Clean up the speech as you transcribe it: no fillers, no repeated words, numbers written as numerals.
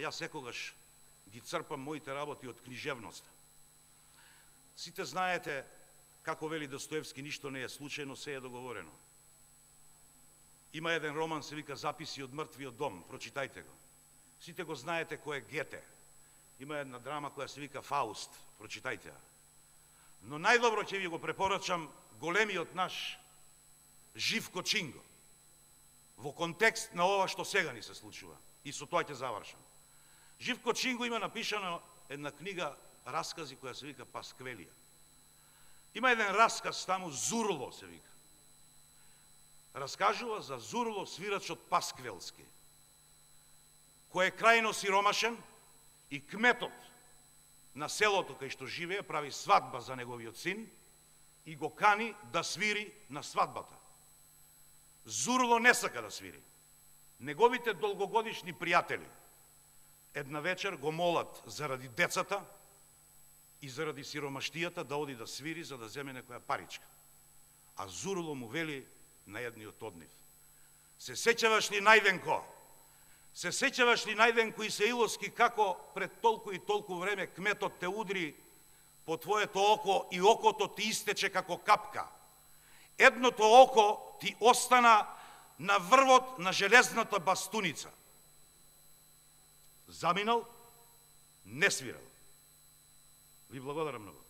јас секогаш ги црпам моите работи од книжевноста. Сите знаете, како вели Достоевски, ништо не е случајно, се е договорено. Има еден роман, се вика Записи од мртвиот дом, прочитајте го. Сите го знаете кој е Гете. Има една драма која се вика Фауст, прочитајте ја. Но најдобро ќе ви го препорачам големиот наш Живко Чинго, во контекст на ова што сега ни се случува. И со тоа ќе завршам. Живко Чинго има напишана една книга раскази која се вика Пасквелија. Има еден расказ таму, Зурло се вика. Раскажува за Зурло, свирачот Пасквелски, кој е крајно сиромашен и кметот на селото кај што живее прави свадба за неговиот син и го кани да свири на свадбата. Зурло не сака да свири. Неговите долгогодишни пријатели една вечер го молат заради децата и заради сиромаштијата да оди да свири за да земе некоја паричка. А Зурло му вели на едниот од нив: се сеќаваш ли, Најденко? Се сеќаваш ли, Најденко Исаиловски, како пред толку и толку време кметот те удри по твоето око и окото ти истече како капка? Едното око ти остана на врвот на железната бастуница. Заминал, не свирал. Ви благодарам многу.